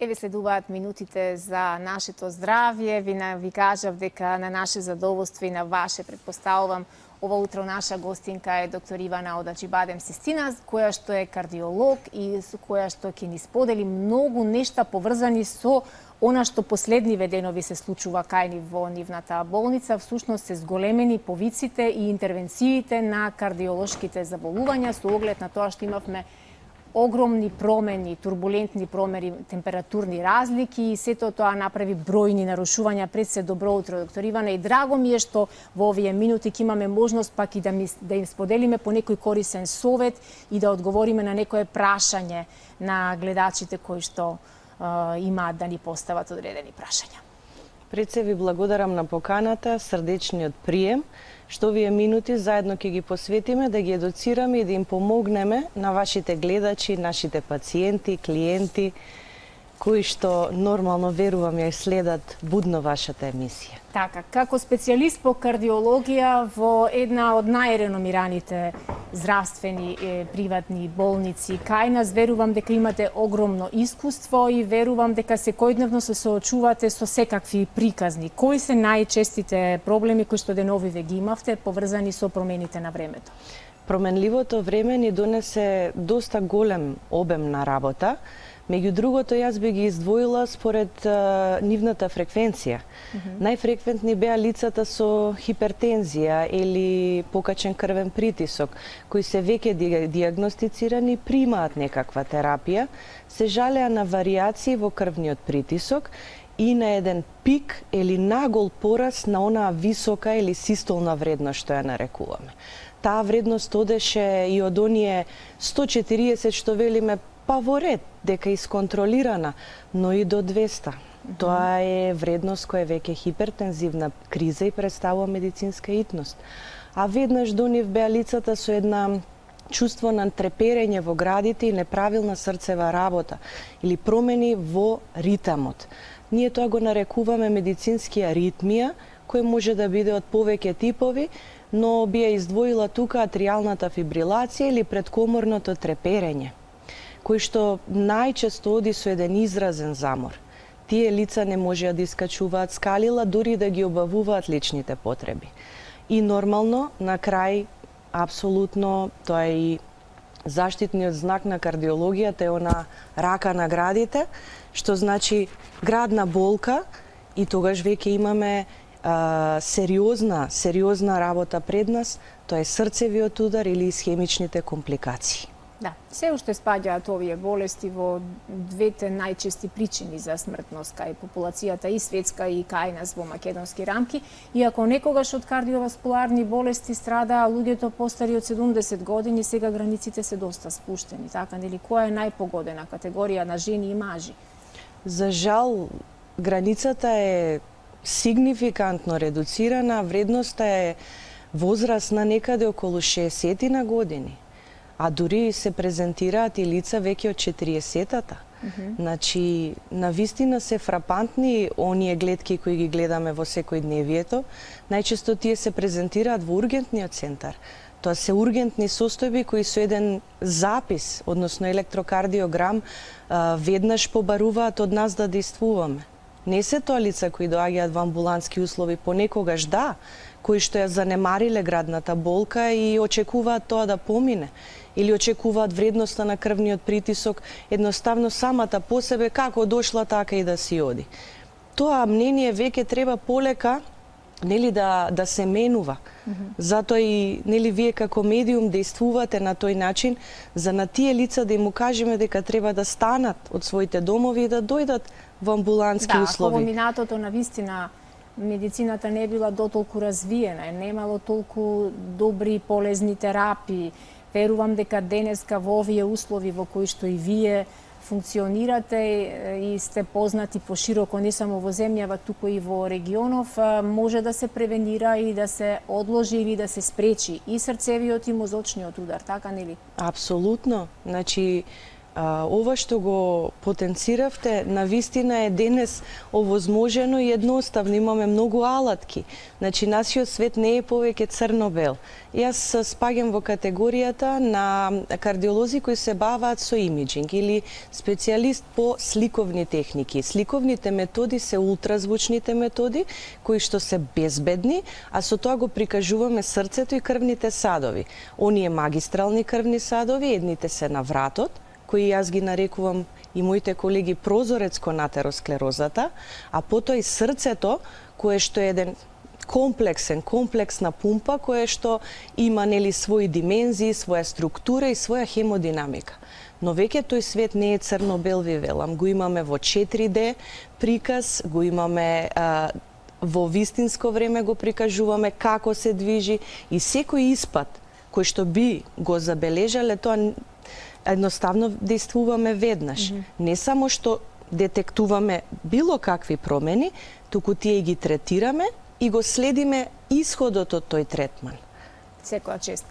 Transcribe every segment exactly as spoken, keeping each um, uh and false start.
Еве следуваат минутите за нашето здравје. Ви, на, ви кажав дека на наше задоволство и на ваше, предпоставувам, ова утро наша гостинка е доктор Ивана Одаџибадем Систина, која што е кардиолог и со која што ќе ни сподели многу нешта поврзани со она што последниве денови се случува кај ни во нивната болница. Всушност се зголемени повиците и интервенциите на кардиолошките заболувања со оглед на тоа што имавме огромни промени, турбулентни промени, температурни разлики и сето тоа направи бројни нарушувања. Пред се добро утро, доктор Ивана, и драго ми е што во овие минути ќе имаме можност пак и да, ми, да им споделиме по некој корисен совет и да одговориме на некое прашање на гледачите кои што е, имаат да ни постават одредени прашања. Пред се ви благодарам на поканата, срдечниот прием, што овие минути заедно ќе ги посветиме да ги едуцираме и да им помогнеме на вашите гледачи, нашите пациенти, клиенти, кои што нормално верувам ја следат будно вашата емисија. Така, како специјалист по кардиологија во една од најреномираните здравствени е, приватни болници кај нас, верувам дека имате огромно искуство и верувам дека секојдневно се соочувате со секакви приказни. Кои се најчестите проблеми кои што деновиве ги имавте поврзани со промените на времето? Променливото време ни донесе доста голем обем на работа. Меѓу другото, јас би ги издвоила според а, нивната фреквенција. Mm-hmm. Најфреквентни беа лицата со хипертензија или покачен крвен притисок, кои се веќе диагностицирани, примаат некаква терапија, се жалеа на варијации во крвниот притисок и на еден пик или нагол пораст на онаа висока или систолна вредност што ја нарекуваме. Таа вредност одеше и од оние сто и четириесет што велиме па во ред, дека исконтролирана, но и до двеста. Mm-hmm. Тоа е вредност која е веќе хипертензивна криза и представува медицинска итност. А веднаш до нив беа лицата со една чувство на треперење во градите и неправилна срцева работа или промени во ритамот. Ние тоа го нарекуваме медицински аритмија, кој може да биде од повеќе типови, но би ја издвоила тука атриалната фибрилација или предкоморното треперење, кој што најчесто оди со еден изразен замор. Тие лица не можеа да искачуваат скалила, дури да ги обавуваат личните потреби. И нормално, на крај, апсолутно, тоа е и заштитниот знак на кардиологијата, е она рака на градите, што значи градна болка, и тогаш веќе имаме а, сериозна, сериозна работа пред нас, тоа е срцевиот удар или исхемичните компликации. Да, се уште спаѓаат овие болести во двете најчести причини за смртност кај популацијата и светска и кај нас во македонски рамки. Иако некогаш од кардиоваскуларни болести страда луѓето постари од седумдесет години, сега границите се доста спуштени, така нели? Која е најпогодена категорија на жени и мажи? За жал, границата е сигнификантно редуцирана, вредноста е возрастна некаде околу шеесет на години. А дури се презентираат и лица веќе од четириесетата. Mm-hmm. Значи, навистина се фрапантни оние гледки кои ги гледаме во секојдневието. Најчесто тие се презентираат во ургентниот центар. Тоа се ургентни состојби кои со еден запис, односно електрокардиограм, веднаш побаруваат од нас да действуваме. Не се тоа лица кои доаѓаат во амбулантски услови, понекогаш да, кои што ја занемариле градната болка и очекуваат тоа да помине, или очекуваат вредноста на крвниот притисок едноставно самата по себе како дошла така и да си оди. Тоа мнение веќе треба полека нели да да се менува. Mm-hmm. Затоа и нели вие како медиум действувате на тој начин за на тие лица да им кажеме дека треба да станат од своите домови и да дојдат во амбулантски да, услови. Да, во минатото навистина медицината не била дотолку развиена, немало толку добри полезни терапии. Верувам дека денеска во овие услови во кои што и вие функционирате и сте познати пошироко не само во земјава, туку и во регионов, може да се превенира и да се одложи или да се спречи и срцевиот и мозочниот удар, така нели? Апсолутно. Значи, Ова што го потенциравте, навистина е денес овозможено и едноставно. Имаме многу алатки. Значи, нашиот свет не е повеќе црно-бел. Јас спаѓам во категоријата на кардиолози кои се баваат со имиджинг или специјалист по сликовни техники. Сликовните методи се ултразвучните методи, кои што се безбедни, а со тоа го прикажуваме срцето и крвните садови. Оние магистрални крвни садови, едните се на вратот, кои јас ги нарекувам и моите колеги прозорец кон атеросклерозата, а потоа и срцето, кое што е еден комплексен, комплексна пумпа, кое што има нели своји димензии, своја структура и своја хемодинамика. Но веќе тој свет не е црно-бел, ви велам. Го имаме во четири де приказ, го имаме а, во вистинско време го прикажуваме како се движи и секој испад кој што би го забележале, тоа едноставно действуваме веднаш. Mm-hmm. Не само што детектуваме било какви промени, туку тие ги третираме и го следиме исходот од тој третман. Секоја чест.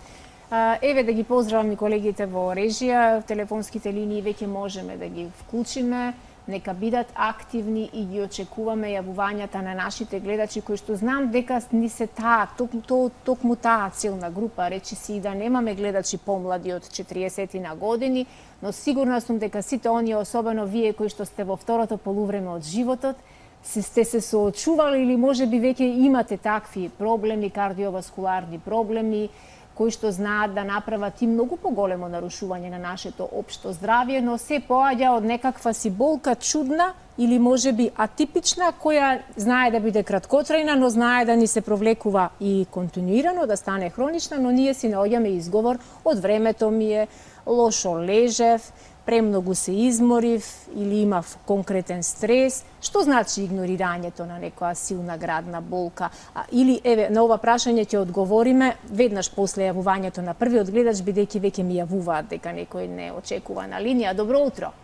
Еве да ги поздравам и колегите во режија, телефонските линии веќе можеме да ги вклучиме, нека бидат активни и ги очекуваме јавувањата на нашите гледачи кои што знам дека ни се таа, токму то, токму таа целна група, речи си и да немаме гледачи помлади од четириесет на години, но сигурна сум дека сите оние, особено вие кои што сте во второто полувреме од животот, се сте се соочували или можеби веќе имате такви проблеми, кардиоваскуларни проблеми, кои што знаат да направат и многу поголемо нарушување на нашето општо здравје, но се поаѓа од некаква си болка чудна или можеби атипична, која знае да биде краткотрајна, но знае да ни се провлекува и континуирано, да стане хронична, но ние си наоѓаме изговор од времето ми е, лошо лежев, премногу се изморив или имав конкретен стрес. Што значи игнорирањето на некоја силна градна болка? А, или, еве, на ова прашање ќе одговориме веднаш после јавувањето на првиот гледач, бидејќи веќе ми јавуваат дека некој не очекува на линија. Добро утро.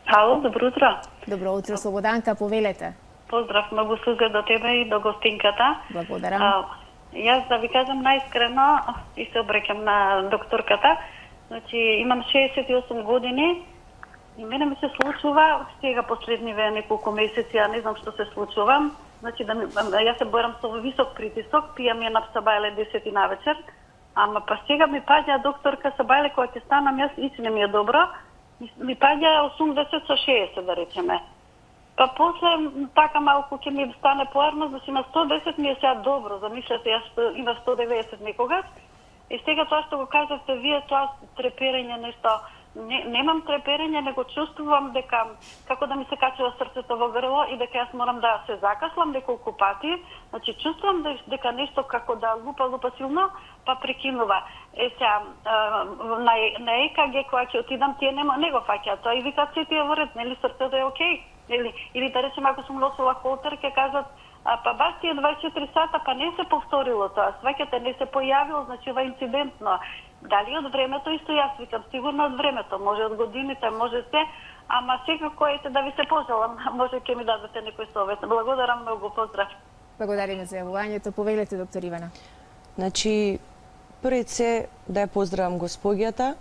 Ало, добро утро. Добро утро, Слободанка, повелете. Поздрав, многу слуга до тебе и до гостинката. Благодарам. А, јас да ви кажам најискрено и се обреќам на докторката. Значи, имам шеесет и осум години и мене ми се случува сега последниве неколку месеци, ја не знам што се случува. Значи, да ми, јас се борам со висок притисок, пијам ја на сабајле десет на вечер, ама па сега ми паѓа докторка сабајле кога ќе станам јас и не ми е добро, ми паѓа осумдесет со шеесет да речеме. Па после така малку ќе ми стане поарно, значи на сто десет ми е сега добро, замислете, јас има сто деветдесет некогаш. И сега тоа што го кажавте вие, тоа треперење нешто, не, немам треперење, него чувствувам дека како да ми се качува срцето во грло и дека јас морам да се закашлам неколку пати. Значи чувствувам дека нешто како да лупа лупа силно, па прекинува. Е сега на, на е ка ге кога ќе отидам, тие нема не го фаќаат тоа и викаат се тие во ред, нели срцето е окей. Или или да речеме ако сум носила холтер ќе кажат а па баш тие дваесет и четири сата, па не се повторило тоа, сваќате, не се појавило, значи ова инцидентно. Дали од времето, исто јас викам, сигурно од времето, може од годините, може се, ама секако ете да ви се пожелам, може ќе ми дадете некој совет. Благодарам многу, поздрав. Благодариме за јавувањето, повелете доктор Ивана. Значи, пред се да ја поздравам госпоѓата,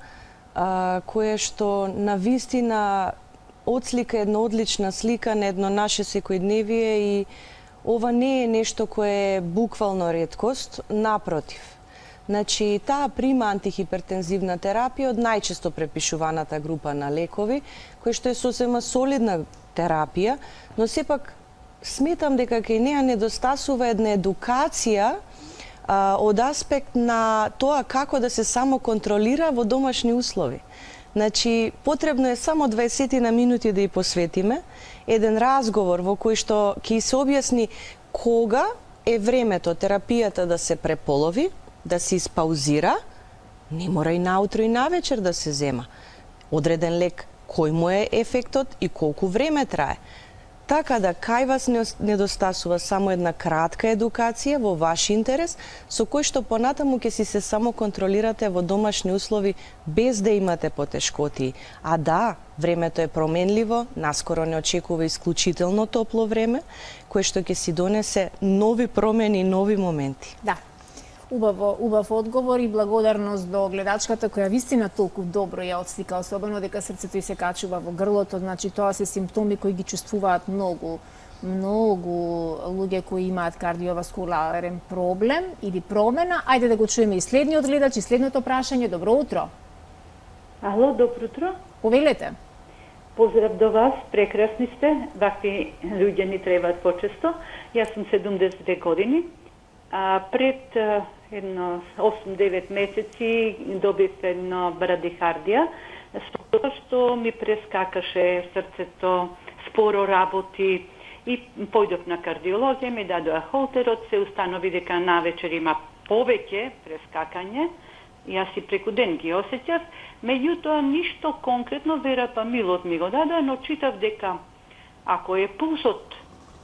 а, која што на вистина отслика една одлична слика на едно наше секојдневие и ова не е нешто кое е буквално реткост, напротив. Значи, таа прима антихипертензивна терапија од најчесто препишуваната група на лекови, кој што е сосема солидна терапија, но сепак сметам дека кај неа недостасува една едукација а, од аспект на тоа како да се само контролира во домашни услови. Значи, потребно е само дваесет на минути да ја посветиме, еден разговор во кој што ќе се објасни кога е времето терапијата да се преполови, да се испаузира, не мора и наутро и навечер да се зема. Одреден лек, кој му е ефектот и колку време трае. Така да кај вас недостасува само една кратка едукација во ваш интерес, со кој што понатаму ќе си се само контролирате во домашни услови без да имате потешкоти. А да, времето е променливо, наскоро не очекува исклучително топло време, кое што ќе си донесе нови промени и нови моменти. Да. Убаво, убав одговор и благодарност до гледачката која вистина толку добро ја отслика, особено дека срцето ѝ се качува во грлото, значи тоа се симптоми кои ги чувствуваат многу многу луѓе кои имаат кардиоваскуларен проблем или промена. Ајде да го чуеме и следниот гледач и следното прашање. Добро утро. Ало, добро утро. Повелете. Поздрав до вас, прекрасни сте. Вакви луѓе ни требаат почесто. Јас сум седумдесет години. А пред едно осум-девет месеци добив едно брадихардија, што ми прескакаше срцето, споро работи, и појдов на кардиологија, ми дадоа холтерот, се установи дека навечер има повеќе прескакање, јас и преку ден ги осеќав, меѓутоа ништо конкретно, верапамилот ми го дадоа, но читав дека ако е пулсот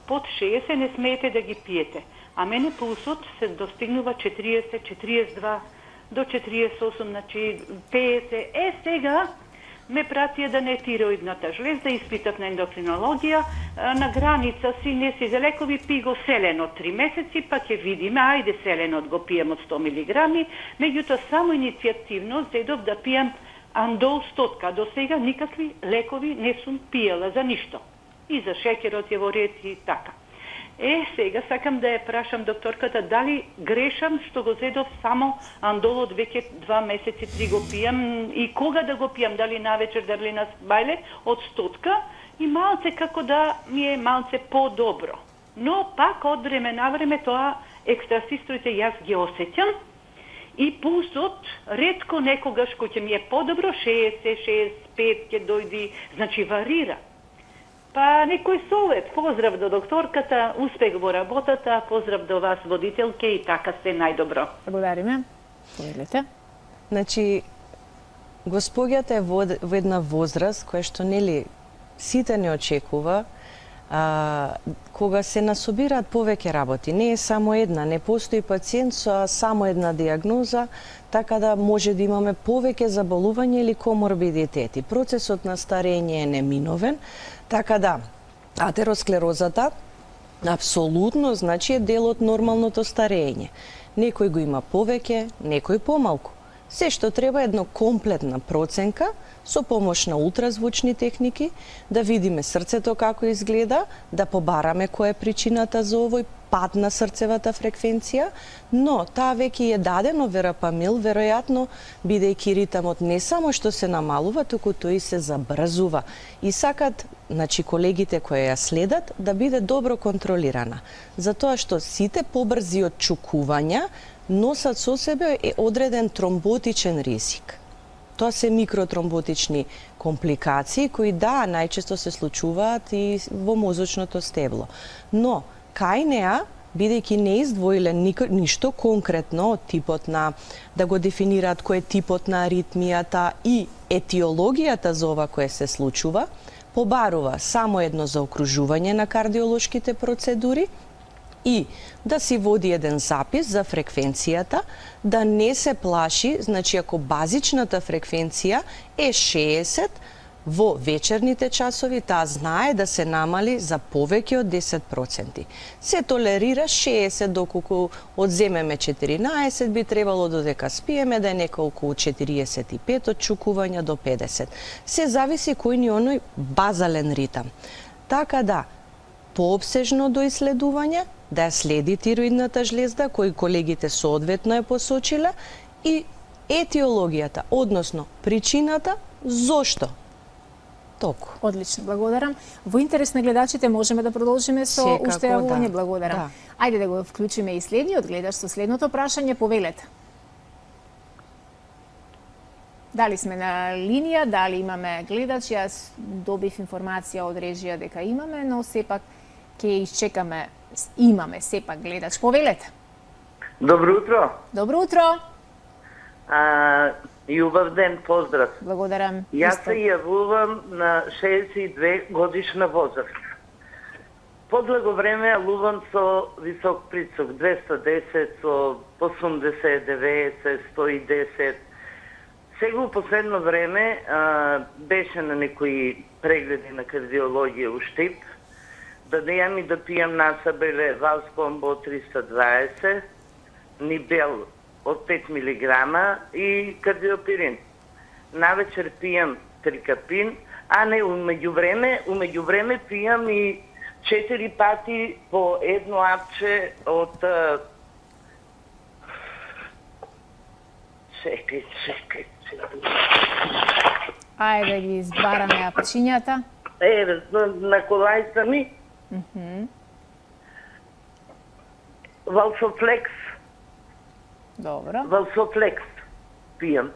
под шеесет, не смеете да ги пиете. А мене пулсот се достигнува четириесет, четириесет и два до четириесет и осум, значи петдесет. Е, сега ме пратија да не тироидната жлезда, испитав на ендокринологија, на граница си, не си за лекови, пи го селенот три месеци, па ќе видиме, ајде селенот го пием од сто милиграми, меѓутоа само иницијативно зедов да пием андол стотка. До сега никакви лекови не сум пиела за ништо. И за шеќерот е во ред и така. Е, сега сакам да ја прашам докторката дали грешам што го зедов само андолот, веќе два месеци, три го пијам, и кога да го пијам, дали навечер, дали на бајле, од стотка, и малце како да ми е малце по-добро. Но пак од време на време тоа екстрасистоите јас ги осеќам, и пулсот ретко некогаш кој ќе ми е по-добро, шеесет, шеесет и пет ќе дојди, значи варира. Па некој совет, поздрав до докторката, успех во работата, поздрав до вас водителке и така сте најдобро. Благодариме. Повелете. Значи, госпоѓата е во, во една возраст која што нели сите не очекува, а, кога се насобираат повеќе работи. Не е само една, не постои пациент со само една диагноза, така да може да имаме повеќе заболување или коморбидитети. Процесот на старење е неминовен, така да атеросклерозата апсолутно значи е дел од нормалното старење. Некој го има повеќе, некој помалку. Се што треба е едно комплетна проценка со помош на ултразвучни техники, да видиме срцето како изгледа, да побараме која е причината за овој пад на срцевата фреквенција, но таа веќе е дадено верапамил, веројатно бидејќи ритамот не само што се намалува, туку тој се забрзува. И сакат, значи колегите кои ја следат, да биде добро контролирана. Затоа што сите побрзи отчукувања носат со себе е одреден тромботичен ризик. Тоа се микротромботични компликации кои да, најчесто се случуваат и во мозочното стебло. Но кај неа, бидејќи не издвоиле ништо конкретно од типот на, да го дефинираат кој е типот на аритмијата и етиологијата за ова кое се случува, побарува само едно заокружување на кардиолошките процедури и да си води еден запис за фреквенцијата, да не се плаши, значи ако базичната фреквенција е шеесет, во вечерните часови таа знае да се намали за повеќе од десет проценти. Се толерира шеесет, доколку одземеме четиринаесет, би требало додека спиеме да е неколку четириесет и пет отчукувања до педесет. Се зависи кој ни оној базален ритам. Така да, пообсежно до исследување, да ја следи тироидната жлезда, кој колегите соодветно е посочиле, и етиологијата, односно причината зошто. Току. Одлично, благодарам. Во интерес на гледачите можеме да продолжиме со Секако, уште јавување, да. благодарам. Да. Ајде да го вклучиме и следниот гледач со следното прашање, повелете. Дали сме на линија, дали имаме гледач, јас добив информација од режија дека имаме, но сепак ќе изчекаме, имаме сепак гледач. Повелете. Добро утро. Добро утро. А, и убав ден, поздрав. Благодарам. Јас се јавувам на шеесет и две годишна возраст. Подлого време јавувам со висок прицок, двеста и десет, со осумдесет, деветдесет, сто и десет. Сега у последно време а, беше на некои прегледи на кардиологија у Штип, да да јам и да пијам насабеле Валспомбо триста дваесет, нибел од пет милиграма и кардиопирин. Навечер пијам трикапин, а не умеѓу време, умеѓу време пијам и четири пати по едно апче од чекај, чекај, чекај. Ајде да ги избараме апчињата. Е, на колајца ми. Мхм. Валсофлекс. Добро. Валсофлекс пијам.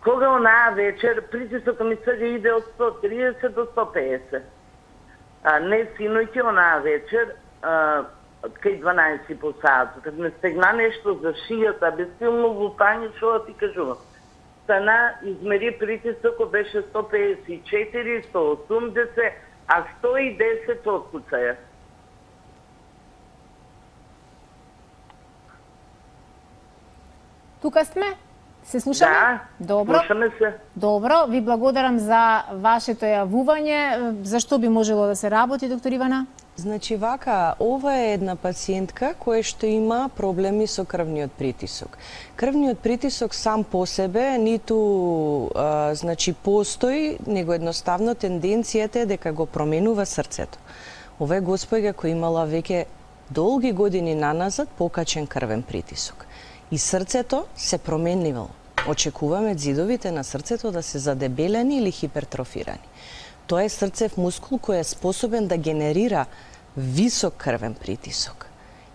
Кога онаа вечер притисокот ми сега иде од сто триесет до сто пеесет. А не синоќа онаа вечер, а, кај дванаесет по саат, кога ме стегна нешто за шијата, без силно лутање, што да ти кажувам. Стана, измери притисокот, беше сто пеесет и четири, сто осумдесет, а сто и десет откуцаја. Тука сме? Се слушаме? Да, Добро. слушаме се. Добро, ви благодарам за вашето јавување. Зашто би можело да се работи, доктор Ивана? Значи вака, ова е една пациентка која што има проблеми со крвниот притисок. Крвниот притисок сам по себе ниту а, значи постои, него едноставно тенденцијата е дека го променува срцето. Ова е госпоѓа која имала веќе долги години наназад покачен крвен притисок. И срцето се променило. Очекуваме ѕидовите на срцето да се задебелени или хипертрофирани. Тоа е срцев мускул кој е способен да генерира висок крвен притисок.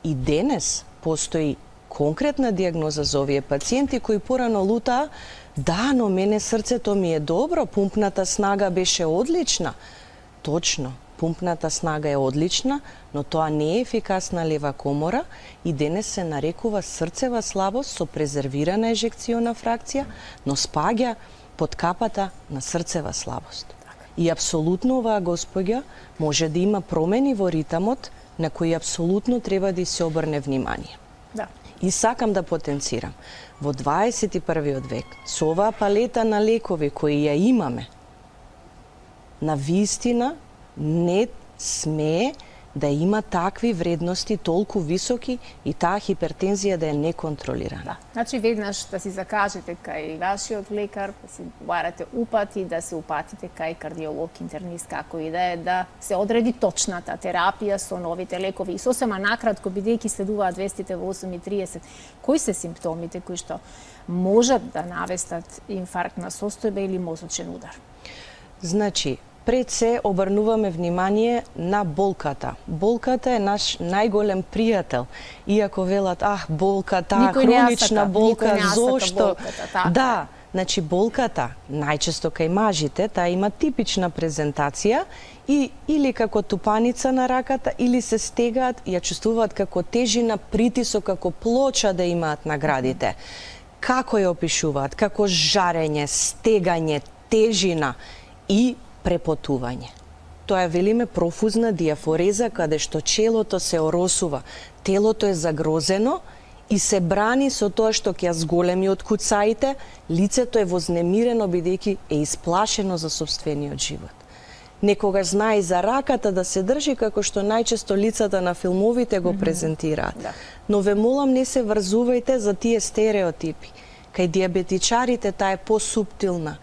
И денес постои конкретна диагноза за овие пациенти кои порано лутаа, да, но мене срцето ми е добро, пумпната снага беше одлична. Точно, пумпната снага е одлична, но тоа не е ефикасна лева комора и денес се нарекува срцева слабост со презервирана ежекциона фракција, но спаѓа под капата на срцева слабост. И апсолутно оваа госпоѓа може да има промени во ритамот на кои апсолутно треба да се обрне внимание. Да. И сакам да потенцирам, во дваесет и првиот век, со оваа палета на лекови кои ја имаме, на вистина не смее да има такви вредности толку високи и таа хипертензија да е неконтролирана. Да. Значи веднаш да си закажете кај вашиот лекар, да си барате упати, да се упатите кај кардиолог, интернист, како и да е, да се одреди точната терапија со новите лекови. И сосема накратко, бидејќи следуваат вестите во осум и триесет, кои се симптомите кои што можат да навестат инфаркт на состојба или мозочен удар? Значи, пред се обрнуваме внимание на болката. Болката е наш најголем пријател. Иако велат, ах, болка, таа хронична болка, зошто? Болката, да, значи болката, најчесто кај мажите, таа има типична презентација и или како тупаница на раката, или се стегаат и ја чувствуваат како тежина, притисок, како плоча да имаат на градите. Како ја опишуваат? Како жарење, стегање, тежина и препотување. Тоа е, велиме, профузна диафореза, каде што челото се оросува, телото е загрозено и се брани со тоа што ќе зголеми од куцаите, лицето е вознемирено бидејќи е исплашено за сопствениот живот. Некогаш знае за раката да се држи како што најчесто лицата на филмовите го презентираат. Да. Но ве молам, не се врзувајте за тие стереотипи. Кај диабетичарите таа е посуптилна.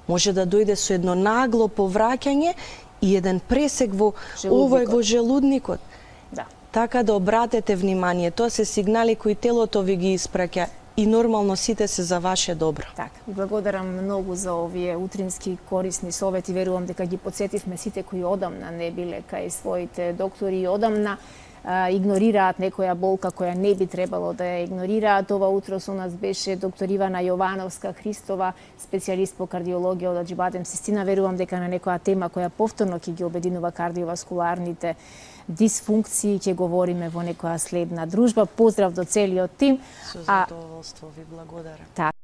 Може да дојде со едно нагло повраќање и еден пресек во овој во желудникот. Да. Така да обратете внимание, тоа се сигнали кои телото ви ги испраќа и нормално сите се за ваше добро. Така, благодарам многу за овие утрински корисни совети. Верувам дека ги потсетивме сите кои одамна не биле кај своите доктори и одамна игнорираат некоја болка која не би требало да ја игнорираат. Ова утро со нас беше доктор Ивана Јовановска Христова, специјалист по кардиологија од Аџибадем Систина. Верувам дека на некоја тема која повторно ќе ги обединува кардиоваскуларните дисфункции ќе говориме во некоја следна дружба. Поздрав до целиот тим. Со задоволство ви благодарам. Така.